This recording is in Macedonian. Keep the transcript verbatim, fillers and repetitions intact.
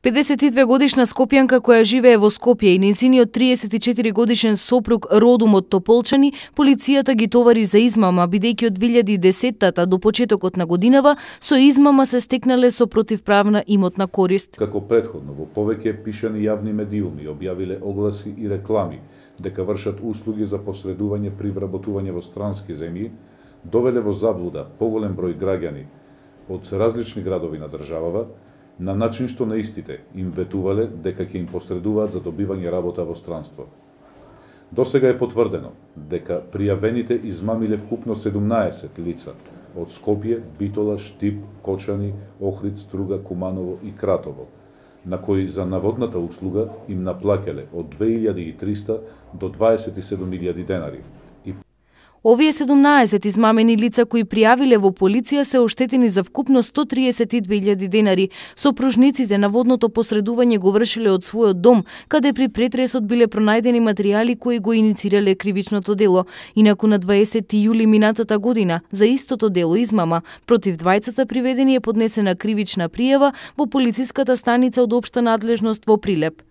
педесет и две годишна скопјанка која живее во Скопје и нејзиниот триесет и четири годишен сопруг родом од Тополчани, полицијата ги товари за измама, бидејќи од две илјади и десетата до почетокот на годинава со измама се стекнале со противправна имотна корист. Како претходно, во повеќе пишани јавни медиуми објавиле огласи и реклами дека вршат услуги за посредување при вработување во странски земји, довеле во заблуда поголем број граѓани од различни градови на државава, на начин што на истите им ветувале дека ќе им посредуваат за добивање работа во странство. Досега е потврдено дека пријавените измамиле вкупно седумнаесет лица од Скопје, Битола, Штип, Кочани, Охрид, Струга, Куманово и Кратово, на кои за наводната услуга им наплаќале од две илјади и триста до дваесет и седум илјади денари. Овие седумнаесет измамени лица кои пријавиле во полиција се оштетени за вкупно сто триесет и две илјади денари. Сопружниците наводното посредување го вршиле од својот дом, каде при претресот биле пронајдени материјали кои го иницирале кривичното дело. Инаку на дваесети јули минатата година за истото дело измама против двајцата приведени е поднесена кривична пријава во полициската станица од општа надлежност во Прилеп.